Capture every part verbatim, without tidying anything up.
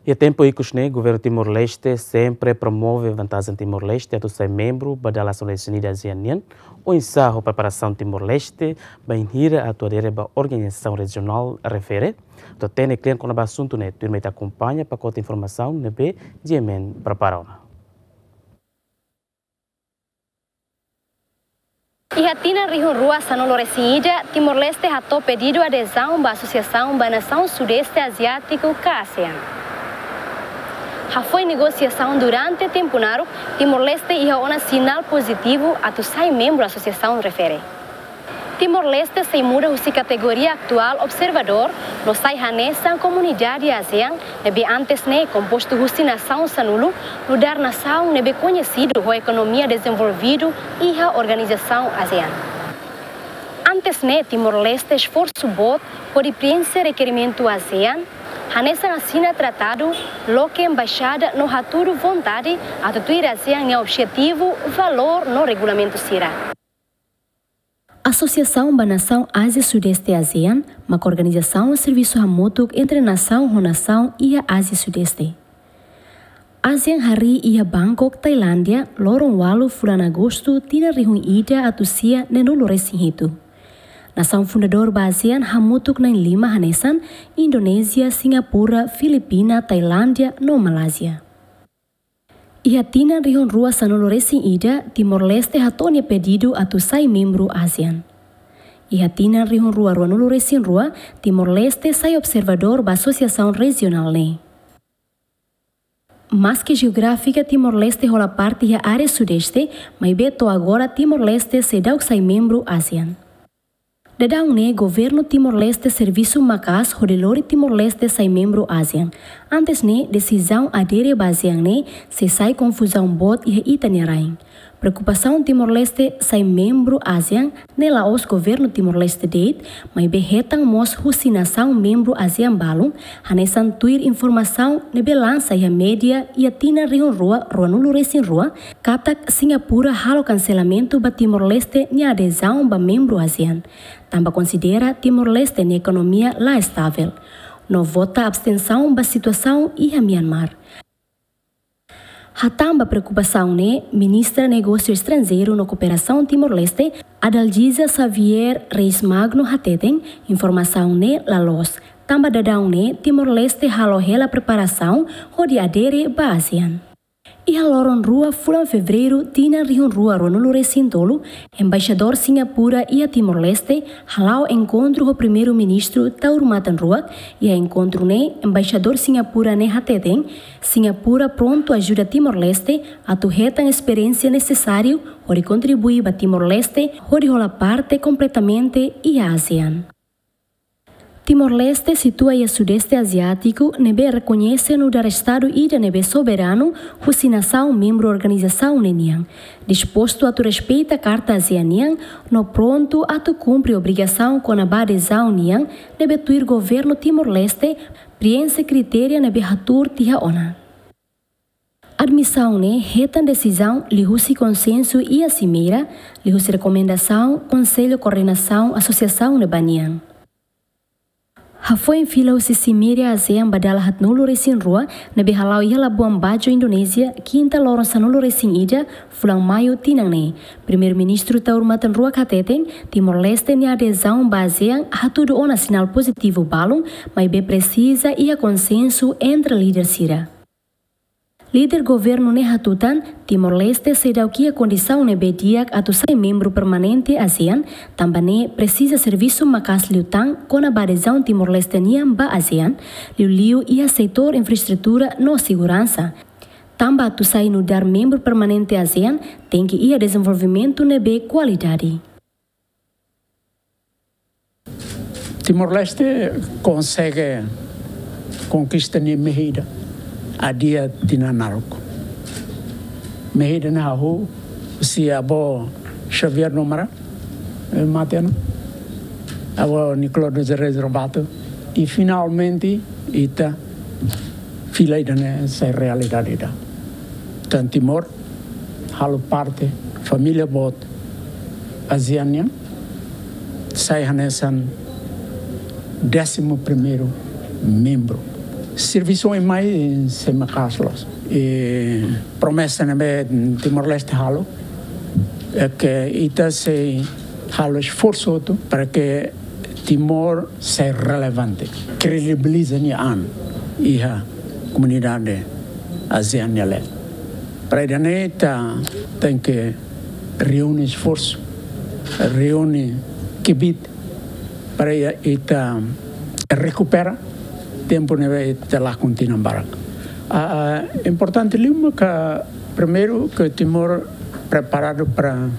Iha tempu ikus ne'e, Governu Timor-Leste sempre promove vantajen Timor-Leste atu sai membru ba dala sanulu-resin-ida ASEAN nian. Oinsá ho preparasaun Timor-Leste bainhira atu adere ba organizasaun rejionál refere? Atu hatene kle'an kona-ba asuntu ne'e, tuirmai ita akompaña pakote informasaun ne'ebé GMN prepara ona. Iha tinan rihun rua sanulu-resin-ida, Timor-Leste hato'o pedidu adezaun ba Asosiasaun ba Nasaun Sudeste Aziátiku ka ASEAN. Hafoin negosiasaun durante tempu naruk, Timor-Leste iha ona sinál pozitivu atu sai membru asosiasaun refere. Timor-Leste sei muda husi kategoria atuál observadór no sai hanesan komunidade ASEAN, ne'ebé antes ne'e kompostu husi nasaun sanulu, nu'udar nasaun ne'ebé koñesidu ho ekonomia dezenvolvidu iha organizasaun ASEAN. Antes ne'e, Timor-Leste esforsu boot hodi prienxe rekerimentu ASEAN, hanesan asina tratadu, loke embaixada no hatudu vontade atu tuir ASEAN nia objetivu, valór no regulamentu sira. Asosiasaun ba Nasaun Ázia Sudeste ASEAN mak organizasaun servisu hamutuk entre nasaun ho nasaun iha Ázia Sudeste. ASEAN harii iha Bangkok, Tailándia, loron ualu fulan Agostu tinan rihun ida atus sia neenulu-resin-hitu. Nasaun fundadór ba ASEAN hamutuk na'in-lima hanesan Indonézia, Singapura, Filipina, Tailándia no Malázia. Iha tinan rihun rua sanulu-resin-ida, Timor-Leste hato'o nia pedidu atu sai membru ASEAN. Iha tinan rihun rua ruanulu-resin-rua, Timor-Leste sai observadór ba asosiasaun rejionál ne'e. Maske jeográfika Timor-Leste hola parte iha área Sudeste, maibé to'o agora Timor-Leste seidauk sai membru ASEAN. Daudaun ne'e, Governu Timor-Leste servisu maka'as hodi lori Timor-Leste sai membru ASEAN. Antes ne'e, desizaun adere ba ASEAN ne'e sei sai konfuzaun boot iha ita-nia rain. Preokupasaun Timor-Leste sai membru ASEAN ne'e la'ós Governu Timor-Leste de'it, maibé hetan mós husi nasaun membru ASEAN balun, hanesan tuir informasaun ne'ebé lansa iha média iha tinan rihun rua ruanulu-resin-rua, katak Singapura halo kanselamentu ba Timor-Leste nia adezaun ba membru ASEAN, tanba konsidera Timor-Leste nia ekonomia la estavel, no vota abstensaun ba situasaun iha Myanmar. Hatán ba preokupasaun ne'e, Ministra Negósiu Estranjeiru no Kooperasaun Timor-Leste, Adalgisa Xavier Reis Magno hateten, informasaun ne'e la loos, tanba daudaun ne'e Timor-Leste halo hela preparasaun hodi adere ba ASEAN. Iha loron rua fulan Fevereiru tinan rihun rua ruanulu-resin-tolu, Embaixadór Singapura iha Timor-Leste hala'o enkontru ho Primeiru-Ministru Taur Matan Ruak. Iha enkontru ne'e, Embaixadór Singapura ne'e hateten, Singapura prontu ajuda Timor-Leste atu hetan esperiénsia nesesáriu hodi kontribui ba Timor-Leste hodi hola parte kompletamente iha ASEAN. Timor-Leste situa iha Sudeste Aziátiku ne'ebé rekoñese nu'udar estadu ida ne'ebé soberanu husi nasaun membru organizasaun ne'e nian, dispostu atu respeita Karta ASEAN nian no prontu atu kumpre obrigasaun kona-ba adezaun nian ne'ebé tuir Governu Timor-Leste prienxe kritéria ne'ebé hatuur tiha ona. Admisaun ne'e hetan desizaun liuhusi konsensu iha simeira, liuhusi rekomendasaun Konsellu Koordenasaun Asosiasaun ne'ebá nian. Hafoin fila husi simeira ASEAN ba dala haatnulu-resin-rua ne'ebé hala'o iha Labuan Bajo, Indonézia, kinta loron sanulu-resin-ida, fulan Maiu tinan ne'e, Primeiru-Ministru Taur Matan Ruak hateten, Timor-Leste nia adezaun ba ASEAN hatudu ona sinál pozitivu balun, maibé presiza iha konsensu entre líder sira. Líder governu ne'e hatutan, Timor-Leste seidauk iha kondisaun ne'ebé di'ak atu sai membru permanente ASEAN, tanba ne'e presiza servisu maka'as liután kona-ba adezaun Timor-Leste nian ba ASEAN, liuliu iha setór infraestrutura no seguransa. Tanba atu sai nu'udar membru permanente ASEAN, tenke iha dezenvolvimentu ne'ebé kualidade. Timor-Leste konsege konkista nia mehi ida, adia tinan naruk. Mehi ida ne'e hahú husi avó Xavier Numara, eh, mate ona. Avó Nicolau dos Reis Lobato. I finalmente, ita fila ida-ne'e sai realidade ida. Tan Timor halo parte família boot ASEAN nian, sai hanesan désimu primeiru membru. Servisu oin mai sei maka'as loos. I promesa ne'ebé Timor-Leste halo, é ke ita sei halo esforsu hotu para ke Timor sei relevante, kredibiliza nia an iha komunidade ASEAN nia leet. Para ida-ne'e ita tenke reúne esforsu, reúne kbiit, para ita rekupera tempu ne'ebé ita lakon tinan barak. Ah, ah, importante liu maka primeiru ke Timor preparadu para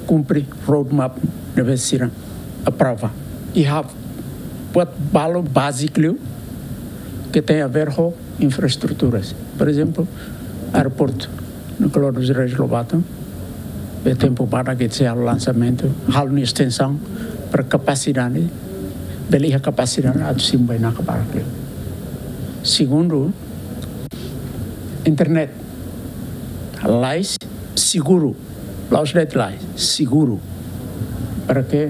kumpre roadmap ne'ebé sira aprova. I halo buat balu báziku liu ke tem a ver ho infraestruturas. Por ezemplu, aeroportu Nicolau dos Reis Lobato, ne'ebé tempu badak ita sei halo lansamentu, halo nia estensaun para kapasidade, bele iha kapasidade atu simu bainaka barak liu. Segundu, internet. Lais, seguru. La'ós de'it lais, seguru. Para ke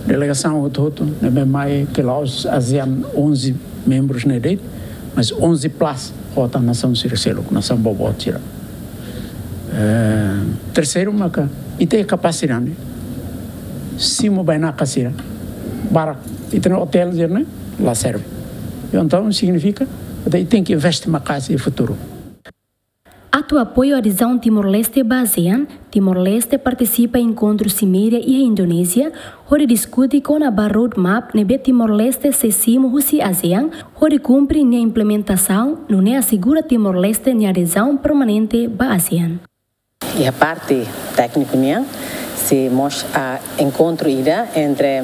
delegasaun hotu-hotu ne'ebé mai, ke la'ós ASEAN onze membrus ne'e de'it, mas onze plus, ho tan nasaun sira seluk, nasaun boboot sira. Eh, terseiru maka, ita iha kapasidade simu bainaka sira barak. Ita-nia otél sira-ne'e la serve. Entaun signifika ita tenke investe maka'as iha futuru. Atu apoiu adezaun Timor-Leste ba ASEAN, Timor-Leste partisipa enkontru siméria iha Indonézia, hodi diskute kona-ba roadmap ne'ebé Timor-Leste sei simu husi ASEAN, hodi kumpre nia implementasaun, nune'e asegura Timor-Leste nia adezaun permanente ba ASEAN. Iha parte tékniku nian, sei mós, ah, enkontru ida entre,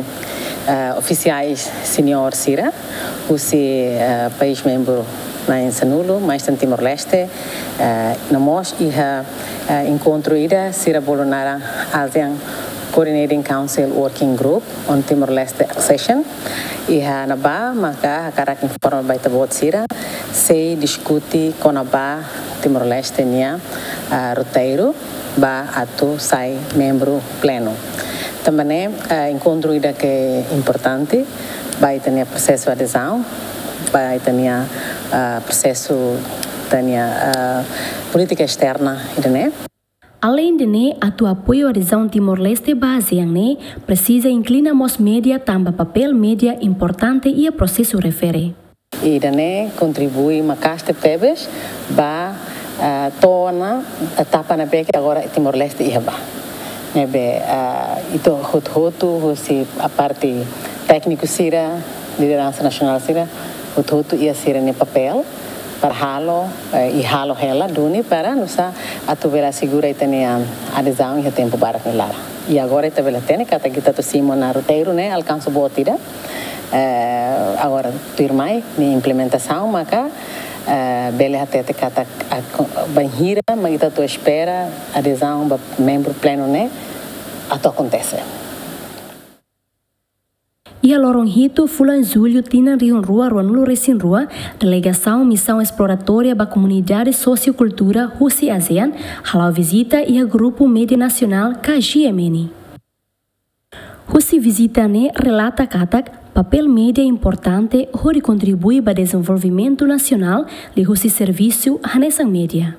ah, ofisiais senior sira husi, ah, país membru na'in sanulu, mais tan Timor-Leste, ah, no mós iha, ah, enkontru ida sira bolu naran ASEAN Coordinating Council Working Group on Timor-Leste Accession. Iha ne'ebá maka hakarak informa ba ita-boot sira, sei diskute kona-ba Timor-Leste nia, ah, roteiru ba atu sai membru plenu. Tanba ne'e, ah, enkontru ida ke importante ba ita-nia prosesu adezaun, ba ita-nia, ah, prosesu, ita-nia, ah, polítika esterna ida-ne'e. Aleinde ne'e, atu apoiu adezaun Timor-Leste ba ASEAN ne'e, presiza inklina mós média tanba papél média importante iha prosesu refere. Ida-ne'e kontribui maka'as tebetebes ba, ah, to'o ona etapa ne'ebé ke agora Timor-Leste iha ba. Ne'ebé, ah, ita hotu-hotu husi parte tékniku sira, lideransa nasionál sira, hotu-hotu iha sira-nia papél para halo, eh, i halo hela duni para nu'usá atu bele asegura ita-nia adezaun iha tempu badak nia laran. I agora ita bele hatene katak ita atu simu ona roteiru ne'e alkansa boot ida. Eh, agora tuirmai nia implementasaun maka, eh, bele hatete katak a, bainhira mak ita atu espera adezaun ba membru plenu ne'e atu akontese. Iha loron hitu fulan Jullu tinan rihun rua ruanulu resin rua, delegasaun Misaun Esploratória ba Komunidade Sosiokultura husi ASEAN hala'o vizita iha grupu média nasionál ka G M N. Husi vizita ne'e relata katak papél média importante hodi kontribui ba dezenvolvimentu nasionál liuhusi servisu hanesan média.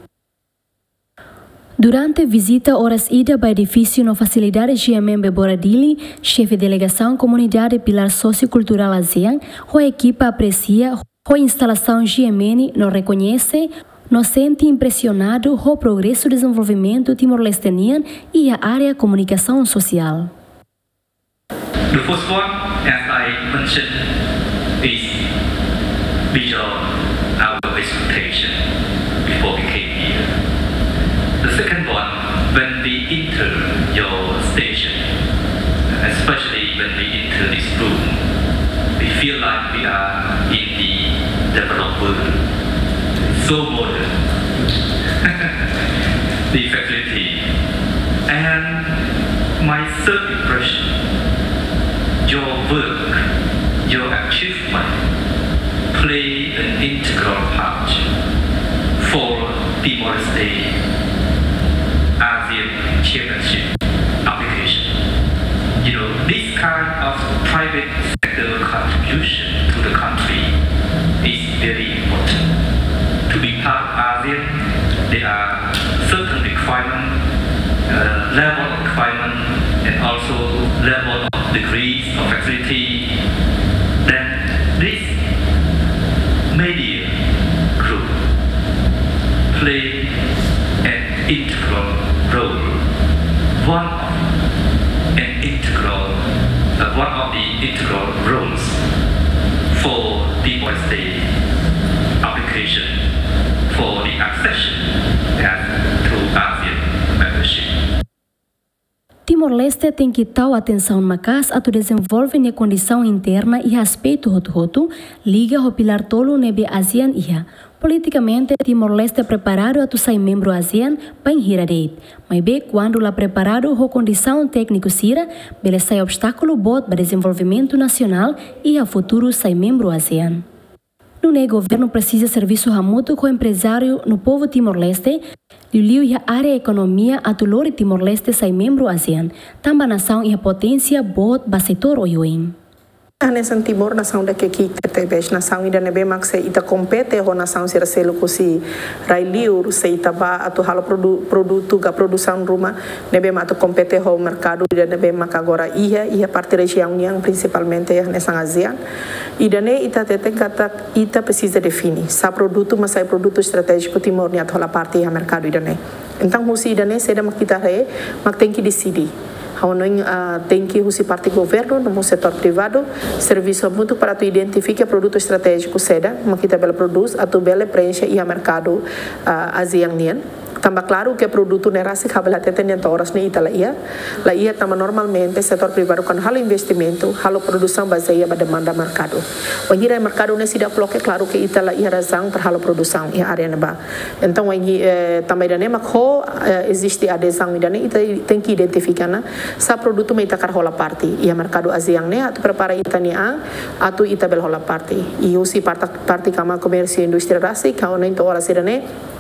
Durante vizita oras ida ba edifísiu no fasilidade G M N Bebora Dili, xefe delegasaun komunidade Pilár Sosiokulturál ASEAN ho ekipa apresia ho instalasaun G M N no rekoñese no sente impresionadu ho progresu dezenvolvimentu Timor-Leste nian iha área komunikasaun sosiál. The first one, as I mentioned, is beyond our expectation before we came here. The second one, when we enter your station, especially when we enter this room, we feel like we are in the developed world. So modern. The facility. And my third impression, your work, your achievement play an integral part for Timor-Leste ASEAN Chairmanship application. You know, this kind of private sector contribution to the country is very important. level of requirement and also level of degrees of facility, then this media group play an integral role, one of an integral, uh, one of the integral roles for Timor-Leste application for the accession as to ASEAN membership. Timor-Leste tenke tau atensaun maka'as atu dezenvolve nia kondisaun interna iha aspetu hotu-hotu, liga ho pilár tolu ne'ebé ASEAN iha. Politikamente, Timor-Leste preparadu atu sai membru ASEAN bainhira de'it. Maibé, kuandu la preparadu ho kondisaun tékniku sira, bele sai obstákulu boot ba dezenvolvimentu nasionál iha futuru sai membru ASEAN. Nune'e governu presiza servisu hamutuk ho emprezáriu no povu Timor-Leste, liuliu iha área ekonomia atu lori Timor-Leste sai membru ASEAN, tanba nasaun iha poténsia boot ba setór oioin. Hanesan Timor nasaun dake ki'ik tebes, nasaun ida ne'ebé mak se ita kompete ho nasaun sira seluk husi rai-liur, se ita bá atu halo produ-, produtu ka produsaun ruma ne'ebé mak atu kompete ho merkadu ida ne'ebé mak agora iha, iha parte rejiaun nian, prinsipalmente hanesan ASEAN. Ida-ne'e ita hateten katak ita presiza define sá produtu mak sai produtu estratéjiku Timor nian atu hola parte iha merkadu ida-ne'e. Entaun, husi ida-ne'e saida mak ita haree, mak tenke deside. Ha'u hanoin, ah, tenke husi parte governu no mós setór privadu servisu hamutuk para atu identifika produtu estratéjiku saida mak ita bele prodús atu bele preenxe iha merkadu, ah, ASEAN nian. Tanba klaru ke produtu ne'e rasik, ha'u bele hateten, to'o oras ne'e ita la iha. La iha tanba normalmente setór privadu kuandu halo investimentu, halo produsaun bazeia ba demanda merkadu. Wainhira merkadu ne'e seidauk loke, klaru ke ita la iha razaun para halo produsaun iha área ne'ebá. Entaun, wainhira, eh, tanba ida-ne'e mak ho, eh, eziste adezaun ida-ne'e, ita tenke identifika ona sá produtu mak ita hakarak hola parte iha merkadu ASEAN ne'e atu prepara ita-nia an atu ita bele hola parte. I husi parte, parte Kámara Komérsiu Indústria rasik, ha'u hanoin to'o oras ida-ne'e,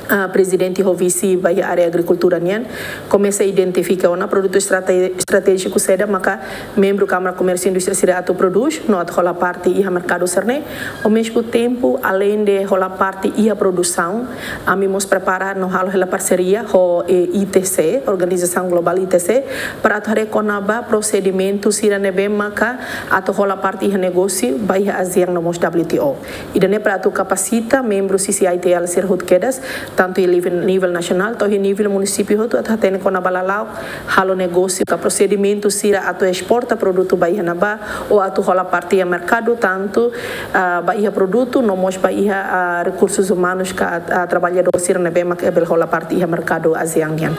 ah, prezidente ho vise ba iha área agrikultura nian komesa identifika ona produtu estrate-, estratéjiku saida maka membru Kámara Komérsiu Indústria sira atu prodús no atu hola parte iha merkadu sira-ne'e. Ao mesmo tempo, além de hola parte iha produsaun, ami mós prepara no halo hela parseria ho, eh, I T C, Organizasaun Globál I T C, para atu haree kona-ba prosedimentu sira ne'ebé maka atu hola parte iha negósiu ba iha ASEAN no mós W T O. Ida-ne'e para atu kapasita membru C C I T L sira hotu kedas, tantu iha nivel, nivel nasionál to'o iha nivel munisípiu hotu, atu hatene kona-ba lala'ok halo negósiu ka prosedimentu sira atu esporta produtu ba iha ne'ebá, ou atu hola parte iha merkadu, tantu, ah, ba iha produtu no mós ba iha, ah, rekursus umanus ka, ah, traballadór sira ne'ebé mak bele hola parte iha merkadu ASEAN nian.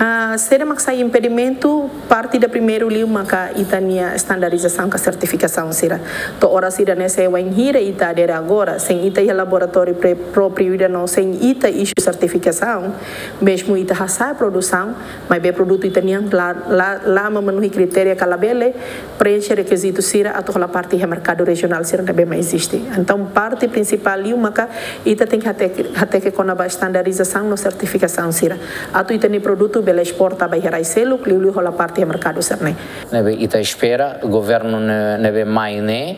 Ah, saida mak sai impedimentu, parte ida primeiru liu maka ita-nia estandarizasaun ka sertifikasaun sira. To'o oras ida-ne'e, se wainhira ita adere agora, sein ita iha laboratóriu pre-, própriu ida no sein ita isu sertifikasaun, mezmu ita hasa'e produsaun, maibé produtu ita-nian la, la, la memenuhi kritéria ka labele preenxe rekizitu sira atu hola parte iha merkadu rejionál sira ne'ebé mak eziste. Entaun, parte prinsipál liu maka ita tenke hateke, hateke kona-ba estandarizasaun no sertifikasaun sira atu ita-nia produtu bele esporta ba iha rai seluk, liuliu hola parte iha merkadu sira-ne'e. Ne'ebé ita espera governu ne'e, ne'ebé mai ne'e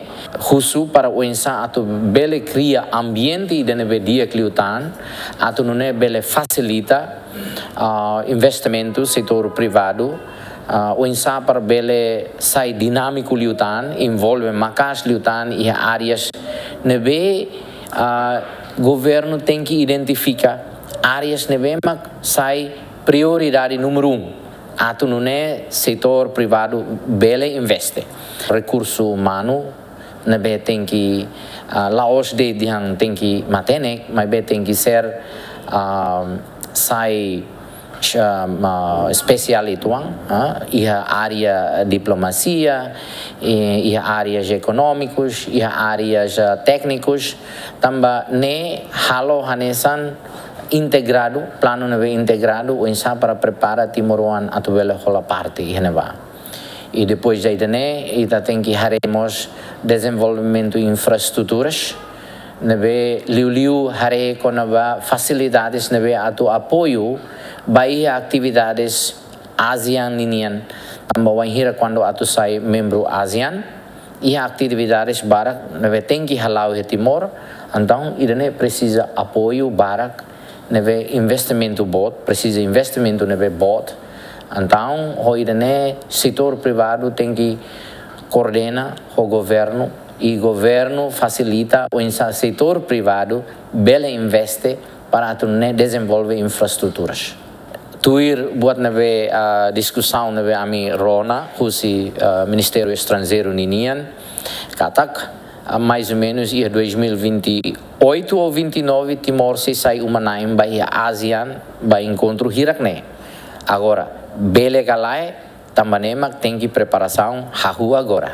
husu para oinsá atu bele kria ambiente ida ne'ebé di'ak liután, atu nune'e bele fasilita, ah, investimentu setór privadu, ah, oinsá para bele sai dinámiku liután, envolve maka'as liután iha áreas ne'ebé, ah, governu tenke identifika áreas ne'ebé mak sai prioridade númeru un, atu nune'e setór privadu bele investe. Rekursu umanu ne'ebé tenke, ah, la'ós de'it dehan tenke matenek, maibé tenke ser, ah, sai, ah, espesiál uitoan, ah, iha área diplomasia, i-, iha áreas ekonómikus, iha áreas, ah, téknikus, tanba ne'e halo hanesan integradu, planu ne'ebé integradu, oinsá para prepara timoroan atu bele hola parte iha ne'ebá. I depois de ida-ne'e, ita tenke haree mós dezenvolvimentu infraestruturas, ne'ebé liuliu haree kona-ba fasilidades ne'ebé atu apoiu ba iha atividades ASEAN ninian. Tanba wainhira kuandu atu sai membru ASEAN, iha atividades barak ne'ebé tenke hala'o iha Timor, entaun ida-ne'e presiza apoiu barak, ne'ebé investimentu boot, presiza investimentu ne'ebé boot, Entaun, ho ida-ne'e setór privadu tenke koordena ho governu, i governu fasilita oinsá setór privadu bele investe para atu nune'e dezenvolve infraestruturas. Tuir buat ne'ebé, ah, diskusaun ne'ebé ami rona husi, ah, Ministériu Estranjeiru ninian, katak, ah, mais ou menus iha dois mil e vinte e oito ou vinte e nove, Timor sei sai uma-na'in ba iha ASEAN, ba enkontru hirak-ne'e. Agora, bele ka lae, tanba ne'e mak tenke preparasaun hahú agora.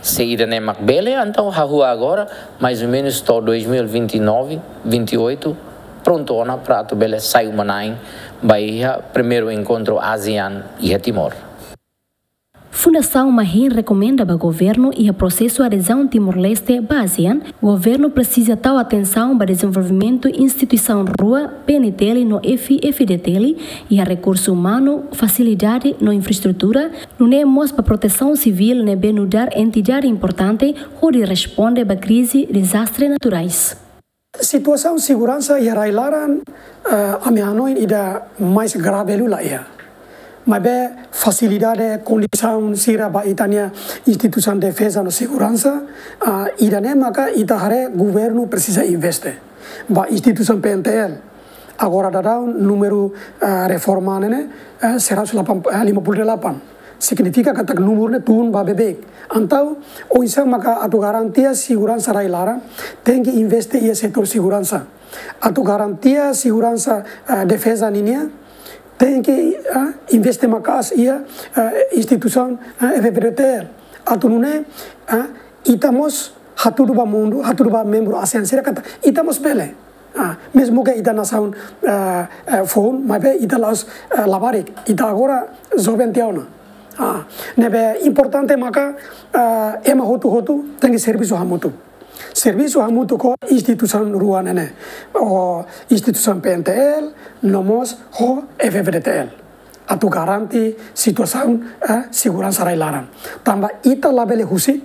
Se ida-ne'e mak bele, entaun hahú agora, mais ou menus to'o dois mil e vinte e nove, vinte e oito, prontu ona para atu bele sai uma-na'in ba iha primeiru enkontru ASEAN iha Timor. Fundasaun Mahin rekomenda ba governu iha prosesu adezaun Timor-Leste ba ASEAN, governu presiza tau atensaun ba dezenvolvimentu instituisaun rua, PNTL no F-FDTL, iha rekursu umanu, fasilidade no infraestrutura, nune'e mós ba protesaun sivíl ne'ebé nu'udar entidade importante hodi responde ba krize dezastre naturais. Situasaun seguransa iha rai-laran, eh, ami hanoin ida mais grave liu la iha. Maibé fasilidade, kondisaun sira ba ita-nia instituisaun defeza no seguransa, ah, ida-ne'e maka ita haree governu presiza investe. Ba instituisaun PNTL, agora daudaun númeru, ah, reforma ne'e, eh, seratus delapan, eh, lima puluh delapan. Signifika katak númeru ne'e tun ba beibeik. Entaun, oinsá maka atu garantia seguransa rai-laran, tenke investe iha setór seguransa. Atu garantia seguransa, eh, defeza ninian, tenke, eh, investe maka'as iha, eh, instituisaun, eh, F-FDTL. Atu nune'e, eh, ita mós hatudu ba mundu, hatudu ba membru ASEAN sira katak ita mós bele. Ah, mezmu ke ita nasaun, eh, eh, foun, maibé ita la'ós, eh, labarik, ita agora joven tiha ona. Ah, ne'ebé importante maka, eh, ema hotu-hotu tenke servisu hamutuk. Servisu hamutuk ho instituisaun rua ne'e ne'e. Ho instituisaun PNTL, no mós ho F-FDTL. Atu garante situasaun, eh, seguransa rai-laran. Tanba ita labele husik,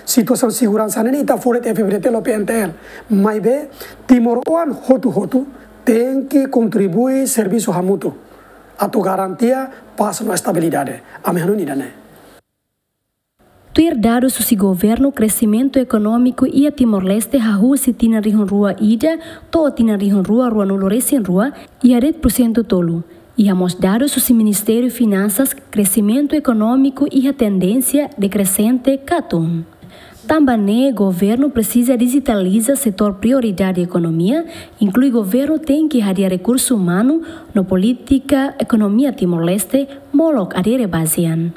situasaun seguransa ne'e ita fó de'it F-FDTL ou PNTL. Maibé, timoroan hotu-hotu tenke kontribui servisu hamutuk. Atu garantia pás no estabilidade. Ami hanoin ida-ne'e. Tuir dadus husi governu, kresimentu ekonómiku iha Timor-Leste hahú husi tinan rihun rua ida to'o tinan rihun rua ruanulu resin rua iha de'it pursentu tolu. Iha mós dadus husi Ministériu Finansas, kresimentu ekonómiku iha tendénsia dekresente ka tun. Tanba ne'e, governu presiza dijitaliza setór prioridade ekonomia, inklui governu tenke hadi'a rekursu umanu no polítika ekonomia Timor-Leste molok adere ba ASEAN.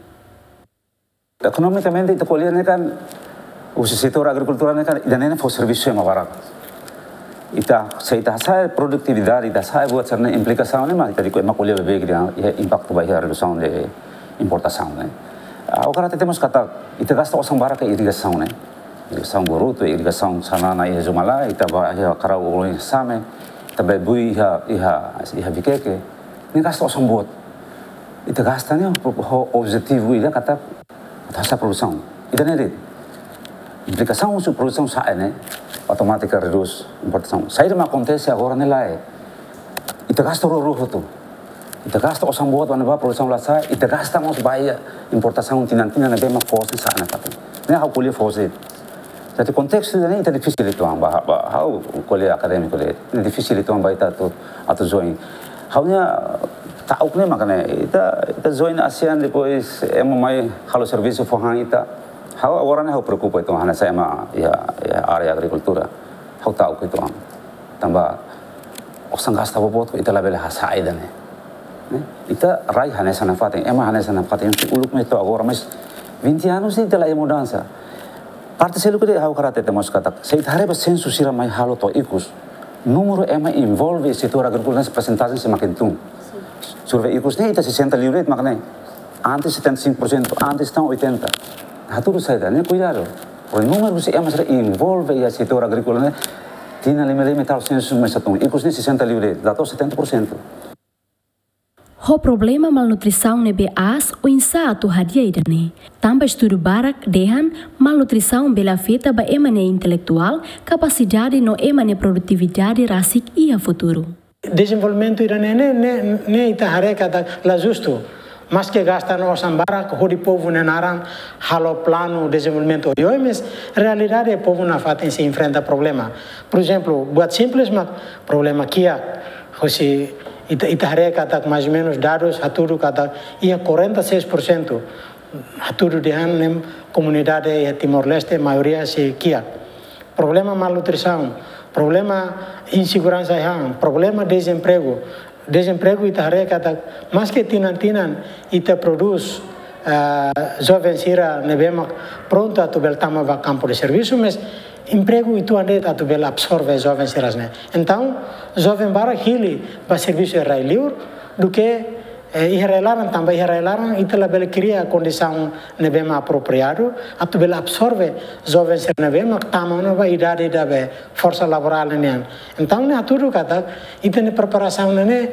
Ekonomikamente, ita ko'alia ne'e kan, husi setór agrikultura ne'e kan, ida-ne'e fó servisu ema barak. Ita, se ita hasa'e produtividade, ita hasa'e buat sira-ne'e, implikasaun ne'e mak ita dehan ema ko'alia beibeik dehan, iha impaktu ba iha redusaun de importasaun ne'e. Ah, agora ita temos katak, ita gasta osan barak iha irrigasaun ne'e. Irrigasaun Boruto, irrigasaun Xanana iha Zumalai, ita ba iha Karau Ulun iha Same, ita ba bui iha, iha, iha Viqueque. Ne'e gasta osan boot. Ita gasta ne'e ho, ho objetivu ida katak atu hasa'e produsaun. Ida-ne'e de'it. Implikasaun husi produsaun sa'e ne'e, automátika redús importasaun. Saida mak akontese agora ne'e lae. Ita gasta rua-rua hotu. Ita gasta osan boot ba ne'ebá produsaun la sa'e, ita gasta mós ba iha importasaun tinan-tinan ne'ebé mak foos sa'e nafatin. Ne'e ha'u ko'alia foos de'it. Jadi kontestu ne'e ita difisil uitoan ba, ba, ha'u ko'alia akadémiku de'it. Ne'e difisil uitoan ba ita atu, atu join. Ha'u-nia ta'uk ne'e mak ne'e, ita, ita join ASEAN depois ema mai halo servisu fó han ita. Ha'u agora ne'e ha'u preokupa uitoan hanesan ema iha, iha área agrikultura. Ha'u ta'uk uitoan. Tanba osan gasta boboot ita labele hasa'e ida-ne'e. Ne'e? Ita rai hanesan nafatin, ema hanesan nafatin, uluk mai to'o agora, mas vinte anos ita la iha mudansa. Parte seluk de'it ha'u hakarak hatete mós katak, se ita haree ba sensu sira mai halo to'o ikus, númeru ema envolve setór agríkola ne'e persentajen semakin tun. Survei ikus ne'e ita sesenta liu de'it mak ne'e. Antes setenta e cinco por cento, antes tan oitenta. Hatudu saida, ne'e kuidadu. Porque númeru husi ema sira envolve iha setór agríkola ne'e, tinan lima lima tau sensu mesak tun. Ikus ne'e sesenta liu de'it, la to'o setenta por cento. Ho problema malnutrisaun ne'ebé aas, oinsá atu hadi'a ida-ne'e? Tanba estudu barak dehan malnutrisaun bele afeta ba ema nia intelektuál, kapasidade no ema nia produtividade rasik iha futuru. Dezenvolvimentu ida-ne'e, ne'e, ne'e, ne'e ita haree katak la justu. Maske gasta ona osan barak hodi povu nia naran halo planu dezenvolvimentu oioin, mas realidade povu nafatin sei enfrenta problema. Por ezemplu, buat simples mak problema kiak, hosi ita, ita haree katak mais ou menus dadus hatudu katak iha quarenta e seis por cento hatudu dehan ne'e komunidade iha Timor-Leste maioria sei kiak. Problema malnutrisaun, problema inseguransa iha an, problema dezempregu. Dezempregu ita haree katak maske tinan-tinan ita prodús, ah, joven sira ne'ebé mak prontu atu bele tama ba kampu de servisu, mas empregu uitoan de'it atu bele absorve joven sira ne'e. Entaun, joven barak hili ba servisu iha rai-liur, duké, eh, iha rai-laran, tanba iha rai-laran ita labele kria kondisaun ne'ebé mak apropriadu atu bele absorve joven sira ne'ebé mak tama ona ba idade ida be forsa laborál nian. Entaun, ne'e hatudu katak ita-nia preparasaun ne'e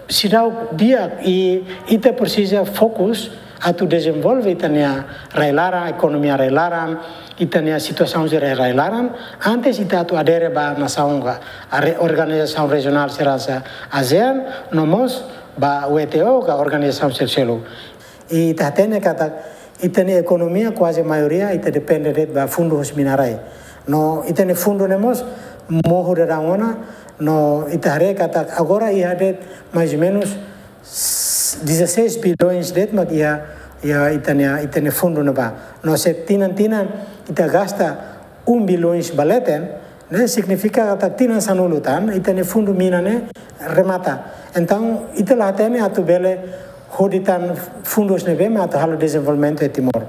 seidauk di'ak i ita presiza fokus atu dezenvolve ita-nia rai-laran, ekonomia rai-laran, ita-nia situasaun sira rai-laran, antes ita atu adere ba nasaun ka, are-, organizasaun rejionál sira hanesan ASEAN, no mós ba W T O ka organizasaun seluk-seluk. I ita hatene katak ita-nia ekonomia kuaze maioria ita depende de'it ba fundu husi mina-rai. No ita-nia fundu ne'e mós mohu daudaun ona, no ita haree katak agora iha de'it mais ou menus dezasseis bilhões de'it mak iha, iha ita-nia, ita-nia fundu ne'ebá. No se tinan-tinan ita gasta um bilhões ba leten, ne'e signifika katak tinan sanulu tan, ita-nia fundu mina ne'e remata. Entaun, ita la hatene atu bele hodi tan fundus ne'ebé mak atu halo dezenvolvimentu iha Timor.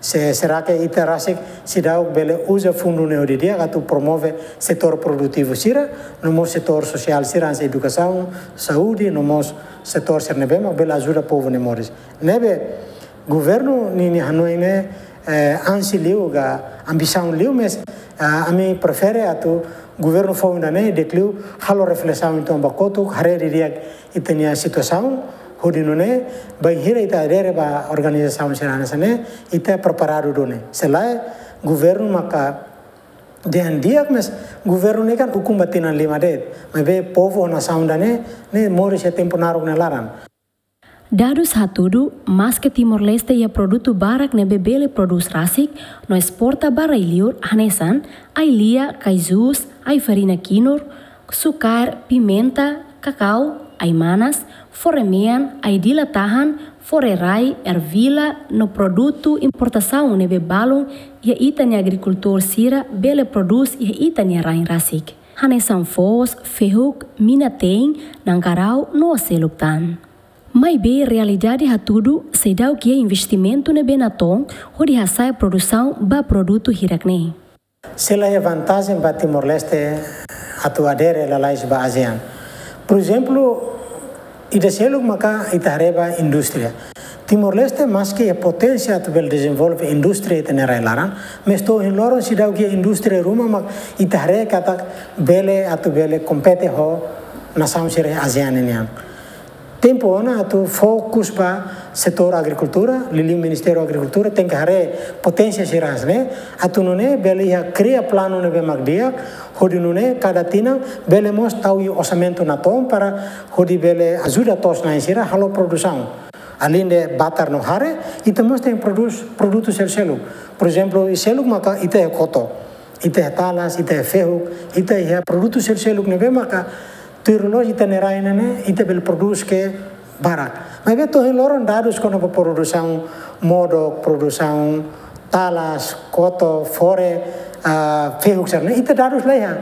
Se, será que ita rasik seidauk bele uza fundu ne'e hodi di'ak atu promove setór produtivu sira, no mós setór sosiál sira, hanesan edukasaun, saúde, no mós setór sira ne'ebé mak bele ajuda povu nia moris. Ne'ebé, governu ninia hanoin ne'e, eh, ansi liu ka ambisaun liu, mas, ah, ami prefere atu governu foun ida-ne'e di'ak liu halo reflesaun uitoan ba kotuk, haree didi'ak ita-nia situasaun, hodi nune'e bainhira ita adere ba organizasaun sira hanesan ne'e, ita preparadu duni. Se lae, governu maka dehan di'ak, mas governu ne'e kan ukun ba tinan lima de'it. Maibé povu ho nasaun ida-ne'e, ne'e moris iha tempu naruk nia laran. Dadus hatudu, maske Timor-Leste iha produtu barak ne'ebé bele prodús rasik no esporta ba rai-liur, hanesan ai-lia, caju, ai-farina kinur, sukaer, pimenta, kakau, ai-manas, fore-mean, ai-dila-tahan, fore-rai, ervila, no produtu importasaun ne'ebé balun iha ita-nia agrikultór sira bele prodús iha ita-nia rain rasik. Hanesan foos, fehuk, mina-teen, nankarau, no seluk tan. Maibé realidade hatudu seidauk iha investimentu ne'ebé natoon hodi hasa'e produsaun ba produtu hirak-ne'e. Se la iha vantajen ba Timor-Leste atu adere lalais ba ASEAN. Por ezemplu, ida seluk maka ita haree ba indústria. Timor-Leste maske iha poténsia atu bele dezenvolve indústria ita-nia rai-laran, mas to'o ohin loron seidauk iha indústria ruma mak ita haree katak bele atu bele kompete ho nasaun sira ASEAN nian. Tempu ona atu fokus ba setór agrikultura, liuliu Ministériu Agrikultura tenke haree poténsia sira hanesan ne'e, atu nune'e bele iha kria planu ne'ebé mak di'ak, hodi nune'e kada tinan bele mós tau iha orsamentu natoon para hodi bele ajuda to'os-na'in sira halo produsaun. Aleinde batar no hare, ita mós tenke prodús produtu seluk-seluk. Por ezemplu, iha seluk maka ita iha koto, ita iha talas, ita iha fehuk, ita iha produtu seluk-seluk ne'ebé maka tuir loloos ita-nia rai ne'e, ita bele prodús ke barak. Maibé to'o ohin loron dadus kona-ba produsaun modok, produsaun talas, koto, fore, ah, fehuk sira-ne'e, ita dadus la iha.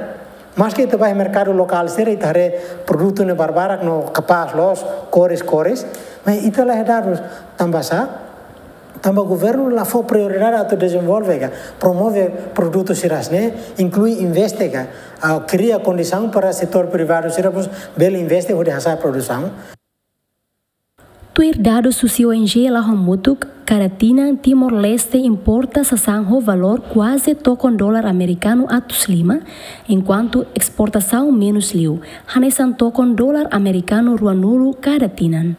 Maske ita bá iha merkadu lokál sira, ita haree produtu ne'e barbarak no kapás loos, kores-kores, mas ita la iha dadus. Tanba sá? Tanba governu la fó prioridade atu dezenvolve ka promove produtu sira hanesan ne'e, inklui investe ka, ah, kria kondisaun para setór privadu sira mós bele investe hodi hasa'e produsaun. Tuir dadus husi ONG la hamutuk, kada tinan Timor-Leste importa sasán ho valór kuaze tokon dolar amerikanu atus lima, enkuantu esportasaun menus liu, hanesan tokon dolar amerikanu ruanulu kada tinan.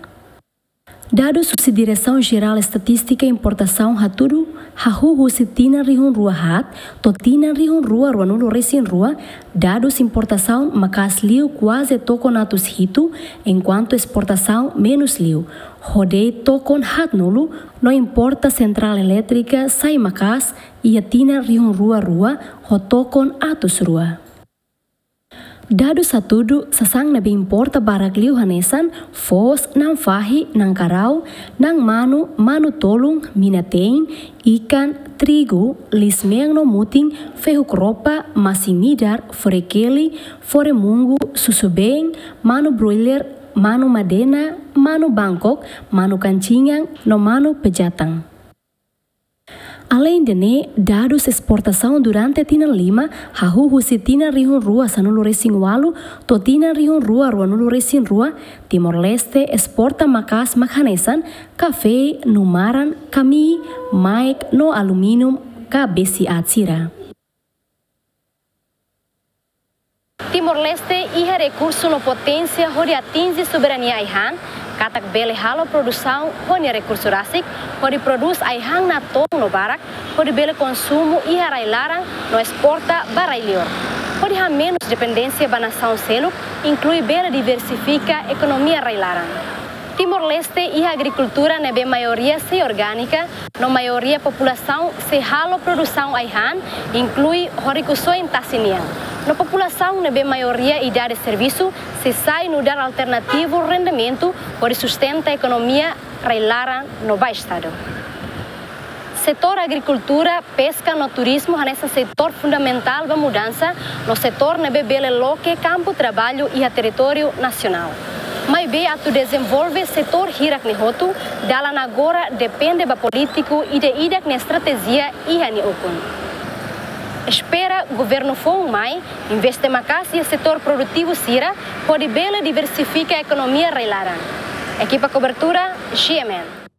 Dadus husi Diresaun Jerál Estatístika Importasaun hatudu, Hahú husi tinan rihun rua haat to'o tinan rihun rua ruanulu resin rua, dadus importasaun maka'as liu kuaze tokon atus hitu, enkuantu esportasaun menus liu, ho de'it tokon haatnulu, no importa sentrál elétrika sai maka'as iha tinan rihun rua rua ho tokon atus rua. Dadus hatudu sasán ne'ebé importa barak liu hanesan foos, na'an fahi, na'an karau, na'an manu, manu-tolun, mina-teen, ikan, trigu, liis-mean no mutin, fehuk-ropa, masin-midar, fore-keli, fore-mungu, susubeen, manu broiler, manu madena, manu Bangkok, manu kancingan, no manu pejatan. Aleinde ne'e, dadus esportasaun durante tinan lima, hahú husi tinan rihun rua sanulu resin ualu to'o tinan rihun rua ruanulu resin rua, Timor-Leste esporta maka'as mak hanesan kafé, numaran, kamii, maek no alumínium ka besi aat sira. Timor-Leste iha rekursu no poténsia hodi atinje soberania ai-han, katak bele halo produsaun ho nia rekursu rasik, hodi prodús ai-han natoon no barak, hodi bele konsumu iha rai-laran no esporta ba rai-liur. Hodi hamenus dependénsia ba nasaun seluk, inklui bele diversifika ekonomia rai-laran. Timor-Leste iha agrikultura ne'ebé maioria sei orgánika, no maioria populasaun sei halo produsaun ai-han, inklui ho rikusoin tasi nian. No populasaun ne'ebé maioria idade servisu sei sai nu'udar alternativu rendimentu hodi sustenta ekonomia rai-laran no ba Estadu. Setór agrikultura, peska no turizmu hanesan setór fundamentál ba mudansa, no setór ne'ebé bele loke kampu traballu iha territóriu nasionál. Maibé atu dezenvolve setór hirak ne'e hotu, dalan agora depende ba polítiku ida-idak nia estratéjia iha nia ukun. Espera governu foun mai investe maka'as iha setór produtivu sira, hodi bele diversifika ekonomia rai-laran. Ekipa kobertura, G M N.